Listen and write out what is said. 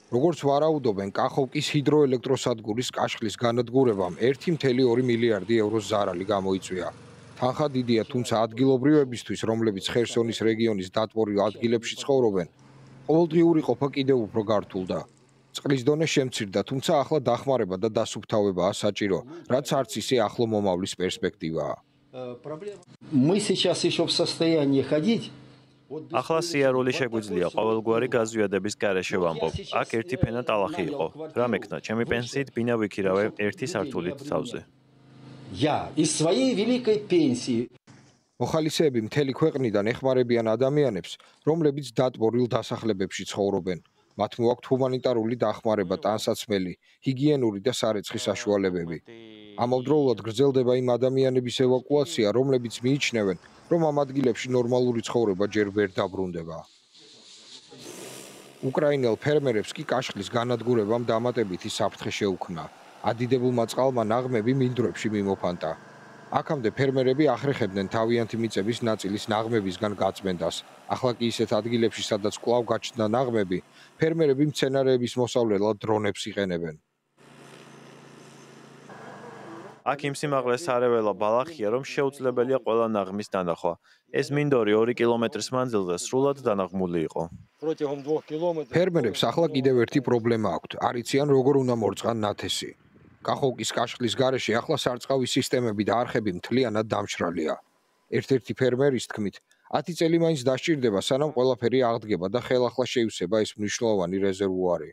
როგორც ვარაუდობენ, კახოვკის ჰიდროელექტროსადგურის კაშხლის განადგურებამ 1,2 მილიარდი ევროს ზარალი გამოიწვია. თანხა დიდია, თუმცა ადგილობრივებისთვის, რომლებიც ხერსონის რეგიონის დატბორილ ადგილებში ცხოვრობენ, ყოველდღიური ყოფა კიდევ უფრო გართულდა. წყლის დონე შემცირდა, თუმცა ახლა დახმარება და დასუფთავებაა საჭირო, რაც არც ისე ახლო მომავლის პერსპექტივაა. Мы сейчас еще в состоянии ходить. ახლა სიარული შეგვიძლია ყოველგვარი გაზვიადების გარეშე ვამბობ. აქ ერთი ფენა ტალახი იყო. რა მექნა, ჩემი პენსიით ბინა ვიქირავე ერთი სართულით თავზე. Я из своей великой пенсии. მოხალისეები მთელი ქვეყნიდან ეხმარებიან ადამიანებს, რომლებიც დატბორილ დასახლებებში ცხოვრობენ. მათ მოაქვთ ჰუმანიტარული დახმარება, ტანსაცმელი, ჰიგიენური და სარეცხი საშუალებები. ამავდროულად გრძელდება იმ ადამიანების ევაკუაცია, რომლებიც მიიჩნევენ, რომ ამ ადგილებში ნორმალური ცხოვრება ჯერ ვერ დაბრუნდება. უკრაინელ ფერმერებს კი კაშხლის განადგურებამ დამატებითი საფრთხე შეუქმნა. ადიდებულმა წყალმა ნაღმები მინდვრებში მიმოფანტა. აქამდე ფერმერები ახრეხებდნენ თავიანთი მიწების ნაწილის ნაღმებისგან გაწმენდას. ახლა კი ისეთ ადგილებში, სადაც კვლავ გაჩნდა ნაღმები, ფერმერები მცენარეების მოსავლელად დრონებს იყენებენ. აქ იმ სიმაღლესარეველა ბალახია, რომ შეუძლებელია ყველა ნაღმის დანახვა. ეს მინდორი 2 კილომეტრის მანძილზე სრულად დანაღმული იყო. ფერმერებს ახლა კიდევ ერთი პრობლემა აქვთ. არ იციან, როგორ უნდა მორწყან ნათესი. კახოვკის კაშხლის გარეშე ახლა სარწყავი სისტემები და არხები მთლიანად დამშრალია. ერთ-ერთი ფერმერის თქმით, 10 წელი მაინც დასჭირდება, სანამ ყველაფერი აღდგება და ხელახლა შეივსება ეს მნიშვნელოვანი რეზერვუარი.